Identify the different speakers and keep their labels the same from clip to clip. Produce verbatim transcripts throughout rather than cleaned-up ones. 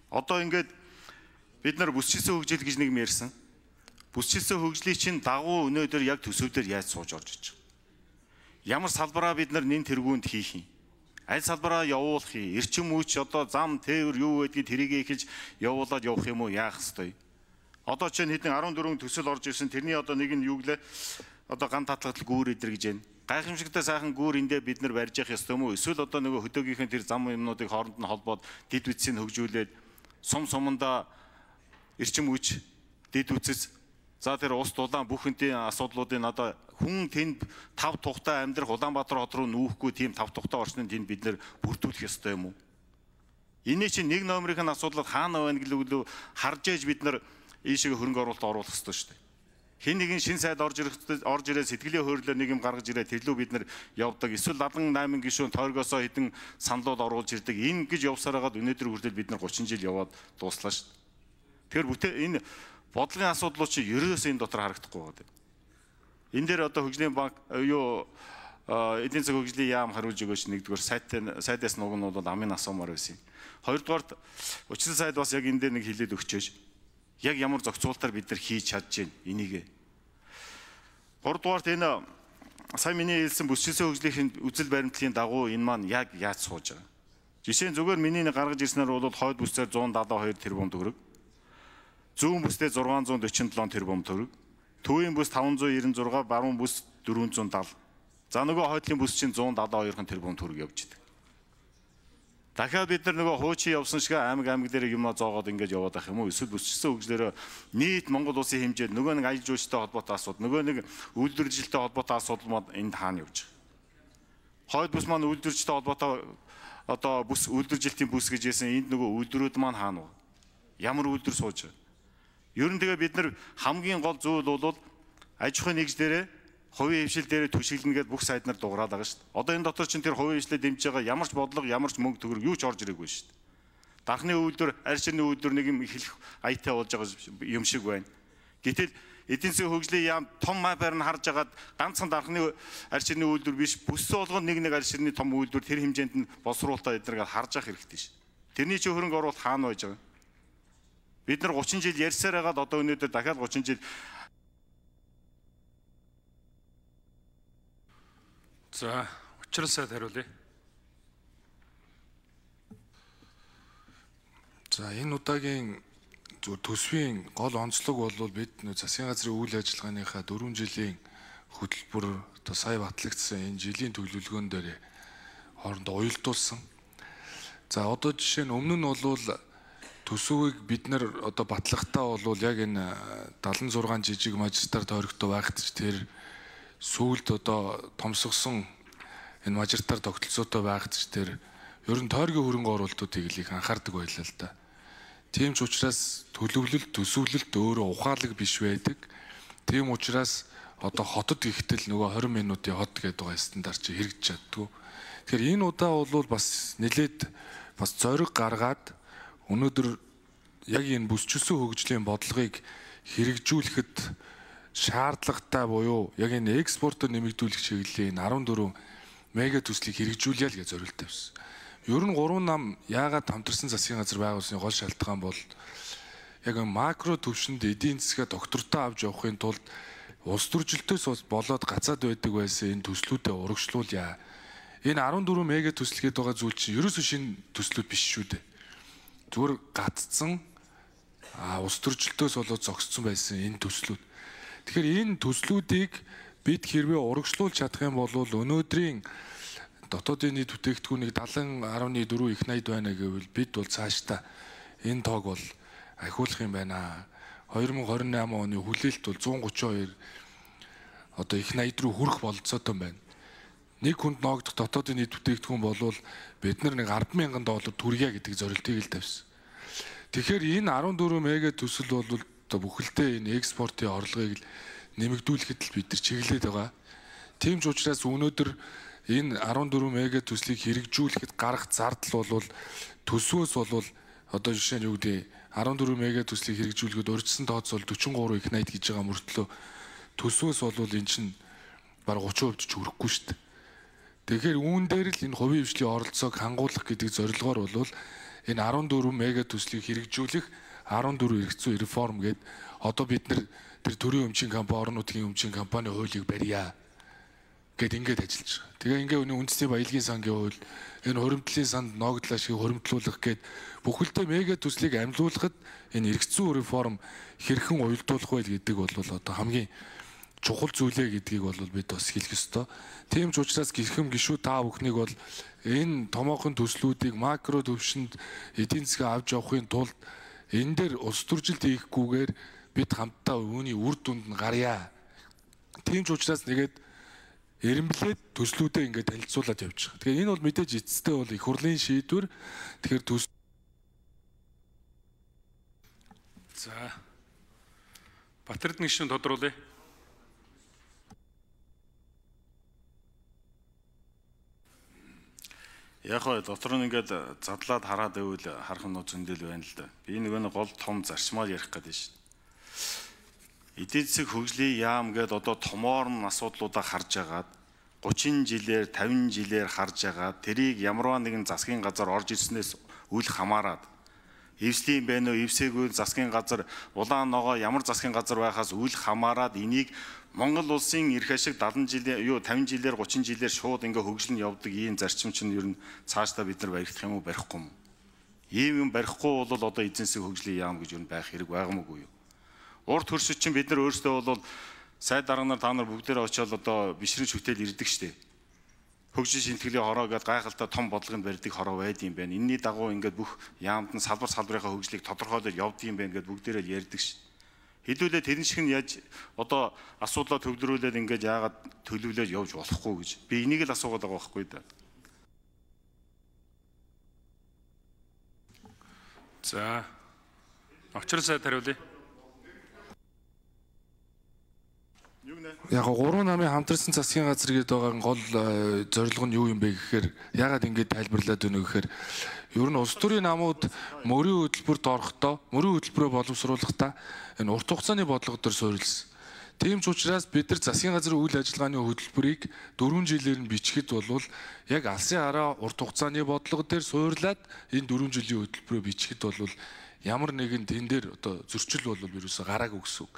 Speaker 1: Одоо ингээд бид нар бүсчилсэн хөгжил гэж нэг юм ярьсан. Бүсчилсэн хөгжлийн чинь дагуу өнөөдөр яг төсөвдөр яаж сууж орж иж байгаа. Ямар салбараа бид нар нэн тэргуунд хийх юм. Аль салбараа явуулах юм. Эрчим хүч одоо зам тээвэр юу гэдгийг тэрийг эхэлж явуулаад явах юм уу яах ёстой. Одоо чинь хэдэн арван дөрвөн төсөл орж ирсэн. Тэрний одоо нэг нь юу гэлээ одоо ган татлагтал гүүр идэр гэж байна. Гайхамшигтай сайхан гүүр эндээ бид нар барьж явах ёстой юм уу? Эсвэл одоо нөгөө хөдөөгийнхэн тэр зам юмнуудыг хооронд нь холбоод дид үтсийг хөгжүүлээд сум сумандаа эрчим хүч дид үтс за тэр ус дулаан бүхэнтэй асуудлуудын одоо хүн тэнд тав тухтай амьдрах Улаанбаатар хот руу нүүхгүй тийм тав тухтай орчныг тэнд бид нэр бүрдүүлэх ёстой юм уу? Энэ чинь нэг номерын асуудал хаана байна гэлээ харж ээж бид нар ийшээ хөрөнгө оруулалт оруулах ёстой шүү дээ. Хин нэгэн шин сайд орж ирэх орж ирээ сэтгэлийн хөөрлөөр нэг юм гаргаж ирээ тэрлүү бид нар явдаг. Эсвэл ладан найман гишүүн тойргосоо хэдэн саналууд оруулж ирдэг. Энэ гэж явсаар хагаад өнөөдөр хүртэл бид нар гучин жил яваад дууслаа шүү дээ. Тэгэхээр бүтээ энэ бодлогын асуудлууд чи ерөөсөө энэ дотор харагдахгүй байгаа. Энэ дээр одоо хөгжлийн банк юу эдийн засаг хөгжлийн яам хариулж өгөөч нэгдүгээр сайттай сайдаас нугнууд бол амын асуумаар байсан. Хоёрдугаарт учир сайд бас яг энэ дээр нэг хэлээд өгчөөж яг ямар зохицуултаар бид нар хийж чадж байна энийг. Гуравдугаарт энэ сайн миний хэлсэн бүсчилсэн хөгжлийн үзэл баримтлалын дагуу энэ маань яг яаж сууж байгаа. Жишээ нь зүгээр миний нэг гаргаж ирснээр бол хойд бүсээр зуун дадлаа хоёр тэрбум төгрөг. Зүүн бүсдээ зургаан зуун дөрвөн седем тэрбум төгрөг. Төвийн бүс таван зуун девяносто шесть, баруун бүс дөрвөн зуун семьдесят. За нөгөө хойдлын бүс чинь зуун дадлаа хоёр тэрбум төгрөг явж идэг. Дахиад бид нар нөгөө хуучин явсан шиг аймаг аймаг дээр юмаа зоогоод ингэж яваад байх юм уу? Эсвэл бүсчилсэн хөгжлөөрөө нийт Монгол улсын хэмжээд нөгөө нэг аял жуулчтай холбоотой асуудал, нөгөө нэг үйлдвэржилттэй холбоотой асуудал маань энд хаана явж байгаа. Хойд бүс маань үйлдвэржилттэй холбоотой одоо бүс үйлдвэржилтийн бүс гэж хэлсэн энд нөгөө үйлдвэрүүд маань хаана вэ? Ямар үйлдвэр сууж байгаа? Ер нь тэгээ бид нар хамгийн гол зүйл бол аж ахуйн нэгж дээрээ хувийн хвшил дээр түшиглэнэ гэдээ бүх сайд нар дуурайад байгаа шүү дээ. Одоо энэ дотор чинь тэр хувийн хвшлээ дэмжиж байгаа ямар ч бодлого, ямар ч мөнгө төгрөг юу ч орж ирээгүй шүү дээ. Дархны үйлдвэр, арь ширний үйлдвэр нэг юм эхлэх аятай болж байгаа юм шиг байна. Гэтэл эдийн засгийн хөгжлийн яам том мапаар нь харж агаад ганцхан дархны арь ширний үйлдвэр биш, бүссэн болгоно нэг нэг арь ширний том үйлдвэр тэр хэмжээнд нь боловсруулалтаа эднэрийг харж ах хэрэгтэй шүү дээ. Тэрний чинь хөрөнгө оруулалт хаана байж байгаа? Бид нар гучин жил ярьсаар хагаад одоо өнөөдөр дахиад гучин жил.
Speaker 2: За, учрал сайд хариулъя.
Speaker 3: За, энэ удаагийн төсвийн гол онцлог бол бид засгийн газрын үйл ажиллагааныхаа дөрвөн жилийн хөтөлбөр одоо сая батлагдсан энэ жилийн төлөвлөгөөн дээр хоорондоо уялдуулсан. За, одоо жишээ нь өмнө нь бол төсвийг бид нар одоо батлахтаа бол яг энэ далайн зургаан жижиг мажистар тойрогтой байхад ч тэр сүүлд одоо томсгосон энэ мажистар тогтолцоотой байхад ч тэр ер нь тойргийн хөрөнгө оруулалтуудыг л их анхаардаг байлаа л да. Тийм ч учраас төлөвлөлт төсвөлөлт өөрөө ухаалаг биш байдаг. Тийм учраас одоо хотод ихтэл нөгөө двадцать минутын хот гэдэг байгаа стандарт чи хэрэгж чаддгүй. Тэгэхээр энэ удаа бол бас нэлээд бас зориг гаргаад өнөөдөр яг энэ бүсчилсэн хөгжлийн бодлогыг хэрэгжүүлэхэд шаардлагатай буюу яг энэ экспортод нэмэгдүүлэх чиглэлийн арван дөрвөн мега төслийг хэрэгжүүлъя л гэж зорилт тавьсан. Ер нь гурван нам яагаад хамтарсан засгийн газар байгуулсны гол шалтгаан бол яг макро төвшөнд эдийн засгаа доктортой авч явахын тулд улс төржилтөөс болоод гацаад байдаг байсан энэ төслүүдэд урагшлуулъя. Энэ арван дөрвөн мега төсөл гээд байгаа зүйл чинь ерөөсөө шинэ төслүүд биш шүү дээ. Зүгээр гаццсан а улс төржилтөөс болоод зогссон байсан энэ төслүүд. Тэгэхээр энэ төслүүдийг бид хэрвээ урагшлуулж чадах юм бол өнөөдрийн дотоодын нийт бүтээгдэхүүнийг седем гаруй дөрвөн их найд байна гэвэл бид бол цаашдаа энэ тоог бол ахиулах юм байна. две тысячи двадцать восемь оны хүлээлт бол one thirty-two одоо их найд руу хүрэх бололцоотой байна. Нэг хүнд ноогдох дотоодын нийт бүтээгдэхүүн болвол бид нар нэг ten thousand доллар түргье гэдэг зорилтыг л тавьсан. Тэгэхээр энэ арван дөрвөн мега төсөл бол одоо бүхэлдээ энэ экспортын орлогыг нэмэгдүүлэхэд л бид нар чиглээд байгаа. Тийм ч учраас өнөөдөр энэ арван дөрвөн мега төслийг хэрэгжүүлэхэд гарах зардал бол төсвөөс бол одоо жишээ нь юу гэдэг арван дөрвөн мега төслийг хэрэгжүүлэхэд урьдчилан тооцоол forty-three их найд гэж байгаа мөртлөө төсвөөс бол эн чинь бараг thirty percent ч хүрэхгүй шүү дээ. Тэгэхээр үүн дээр л энэ хувийн хвшлийн оролцоог хангуулах гэдэг зорилгоор бол энэ арван дөрвөн мега төслийг хэрэгжүүлэх арван дөрвөн эрх зүйн реформ гээд одоо бид нар тэр төрийн өмчийн компани, орон нутгийн өмчийн компани хуулийг барья гэд ингээд ажиллаж байгаа. Тэгээ ингээ өнөө үндэсний баялагын сангийн хууль, энэ хуримтлалын санд ногдлоо шиг хуримтлуулах гээд бүхэлдээ мега төслийг амлуулахад энэ эрх зүйн реформ хэрхэн уялдуулах вэ гэдэг бол одоо хамгийн чухал зүйлээ гэдгийг бол бид бас хэлэх ёстой. Тийм ч учраас гэрхэм гишүүд та бүхнийг бол энэ томоохон төслүүдийг макро төвшөнд эдийн засгаа авч явахын тулд энэ дээр улс төржилт хийхгүйгээр бид хамтдаа үүний үр дүнд нь гарья. Тийм ч учраас нэгээд эренблээд төслүүдээ ингээд танилцуулаад явж байгаа. Тэгэхээр энэ бол мэдээж эцэстээ бол их хурлын шийдвэр. Тэгэхээр төс
Speaker 2: За Батэрдэн гишүүн тодруулъя.
Speaker 1: Яг хоо дотор нь ингээд задлаад хараад байвал харах нь зөндөл байна л да. Би нөгөө нэг гол том зарчмаар ярих гэдэг шин. Эдийн засаг хөгжлийн яам гээд одоо томоор нь асуудлуудаа харж агаад гучин жилээр тавин жилээр харж агаад тэрийг ямарваа нэгэн засгийн газар орж ирснээс үл хамааран эвслийн байна уу, эвсээгүй засгийн газар, улаан ногоо ямар засгийн газар байхаас үл хамааран энийг Монгол улсын эрх ашиг дадан жилийн юу тавин жилээр гучин жилээр шууд ингээ хөгжлөн явдаг ийм зарчим чинь ер нь цаашдаа бид нар баригдах юм уу, барихгүй юм. Ийм юм барихгүй бол одоо эзэн засгийн хөгжлийн яам гэж ер нь байх хэрэг байгаагүй юу. Урд хөршид чинь бид нар өөрсдөө бол сайд дарга нар та нар бүгдээрээ очиод одоо бишрэн шүтэл ирдэг штеп. Хөгжил шинтгэлийн хороо гэдэг гайхалтай том бодлогыг барьдаг хороо байд юм байна. Энийний дагуу ингээд бүх яамд нь салбар салбарынхаа хөгжлийг тодорхойлоод явд юм байна гэдээ бүгдээрээ л ярьдаг ш. Хэдүүлээ тэрэн шиг нь яаж одоо асуудлаа төвлөрүүлээд ингээд яагаад төлөвлөж явж болохгүй гэж би энийг л асуугаад байгаа байхгүй да.
Speaker 2: За очир сайд хариулъя.
Speaker 3: Яг гурван намын хамтарсан засгийн газар гэдэг байгаа гол зорилго нь юу юм бэ гэхээр ягаад ингэж тайлбарлаад өгнө гэхээр ер нь улс төрийн намууд мөрийн хөтөлбөрт орохдоо мөрийн хөтөлбөрөө боловсруулахдаа энэ урт хугацааны бодлого төр суурилсан. Тийм ч учраас бид нар засгийн газрын үйл ажиллагааны хөтөлбөрийг дөрвөн жилээр нь бичгэд болвол яг алсын хараа урт хугацааны бодлого дээр суурлаад энэ дөрвөн жилийн хөтөлбөрөө бичгэд болвол ямар нэгэн тэн дээр одоо зөрчил болвол ерөөсө гараагүй гэсэн үг.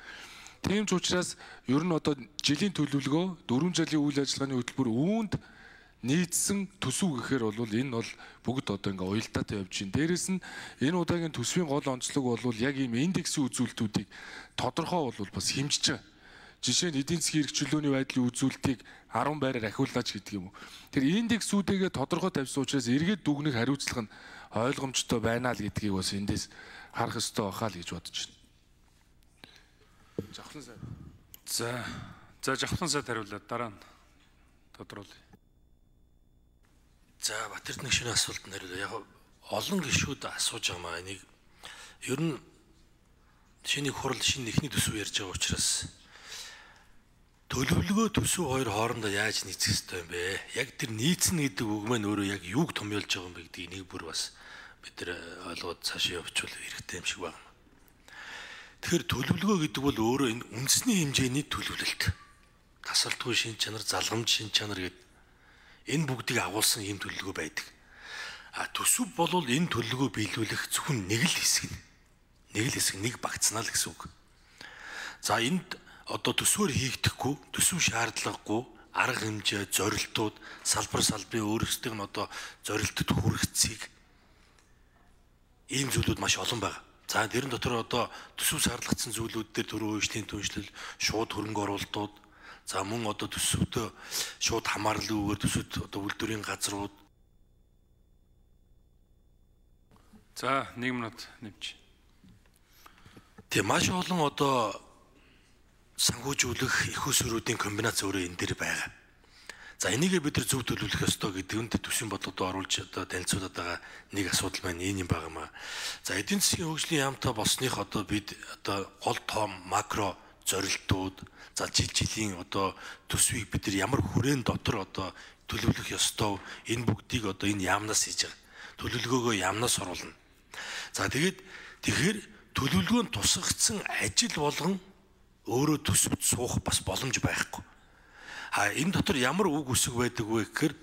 Speaker 3: Тийм ч учраас ер нь одоо жилийн төлөвлөгөө дөрвөн жилийн үйл ажиллагааны хөтөлбөр үүнд нийцсэн төсөв гэхээр бол энэ бол бүгд одоо ингээ уялдаатай явж байна. Дээрээс нь энэ удаагийн төсвийн гол онцлог бол яг ийм индексийн үзүүлэлтүүдийг тодорхой бол бас хэмжиж байгаа. Жишээ нь эдийн засгийн эрхчлөөний байдлын үзүүлэлтийг арван байраар ахиулаач гэдэг юм уу. Тэр индексүүдээ тодорхой тавьсан учраас эргээд дүгнэх хариуцлага нь ойлгомжтой байна л гэдгийг бас эндээс харах ёстой байхаа л гэж бодож байна. Жавхлан сайд.
Speaker 2: За за жавхлан сайд хариулаад дараа нь тодруулъя.
Speaker 4: За Батэрдэн гишүүний асуултанд хариулъя. Яг олон гишүүд асууж байгаа маа энийг ер нь шиний хурал шинэ эхний төсөв ярьж байгаа учраас төлөвлөгөө төсөв хоёр хоорондоо яаж нийцэх ёстой юм бэ? Яг тэр нийцнэ гэдэг үг маань өөрөө яг юуг томьёолж байгаа юм бэ гэдгийг нэг бүр бас бид нар ойлгоод цаашаа явуучвал хэрэгтэй юм шиг байна. Тэгэхээр төлөвлөгөө гэдэг бол өөрөө энэ үндэсний хэмжээний төлөвлөлт. Тасалтгүй шин чанар, залгамж шин чанар гэдэг энэ бүгдийг агуулсан ийм төлөвлөгөө байдаг. А төсөв бол энэ төлөвлөгөө биелүүлэх зөвхөн нэг л хэсэг нь. Нэг л хэсэг, нэг багцнаа л гэсэн үг. За энд одоо төсвөр хийгдэхгүй, төсөв шаардлагагүй, арга хэмжээ, зорилтууд, салбар салбарын өөрсдийн нь одоо зорилтод хүрэх цэг ийм зүйлүүд маш олон байна. За тэрэн дотор одоо төсөв шаардлагатсан зүйлүүд дээр төрөө үйлчлэлийн түншлэл, шууд хөрөнгө оруулалтууд, за мөн одоо төсөвтөө шууд хамаарлалгүйгээр төсөвт одоо үйлдвэрийн газрууд.
Speaker 2: За нэг минут нэмж.
Speaker 4: Тэг маш олон одоо санхүүжүүлэх их усруудын комбинац өөрөө энэ дээр байгаа. За энийг бид нар зөв төлөвлөх ёстой гэдэг нь төсвийн бодлогод оруулж одоо танилцуулаад байгаа нэг асуудал маань энэ юм байгаа маа. За эдийн засгийн хөгжлийн яамтай болсных одоо бид одоо гол том макро зорилтууд, за жил жилийн одоо төсвийг бид нар ямар хүрээнд дотор одоо төлөвлөх ёстой энэ бүгдийг одоо энэ яамнаас хийж байгаа. Төлөвлөгөөгөө яамнаас оруулна. За тэгээд тэгэхээр төлөвлөгөөнд тусгагдсан ажил болгон өөрөө төсөвт суух бас боломж байхгүй. А энэ дотор ямар үг үсэг байдаг вэ гэхээр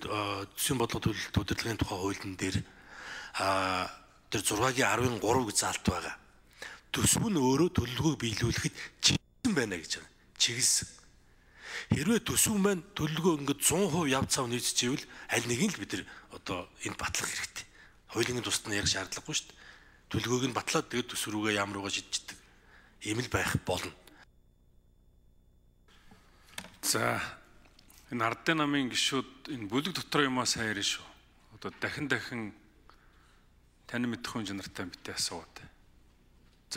Speaker 4: төсвийн бодлого төлөлт удирдлагын тухай хуулийн дээр а тэр зургагийн арвын гурав гэж заалт байгаа. Төсөв нь өөрөө төлөвлөгөөг биелүүлэхэд чиглэсэн байна гэж байна. Чиглэсэн. Хэрвээ төсөв маань төлөвлөгөө ингээд зуун хувь яв цав нийцчихвэл аль нэгийг л бид нар одоо энд батлах хэрэгтэй. Хуулийн тусад нь ярих шаардлагагүй шүү дээ. Төлөвлөгөөг нь батлаад тэгээд төсөв рүүгээ ямар угаа шийдчихдэг. Ийм л байх болно.
Speaker 2: За энэ ардын намын гишүүд энэ бүлэг дотор юмаа сайн ярина шүү. Одоо дахин дахин тань мэдэх хүн чанартай битээ асууад.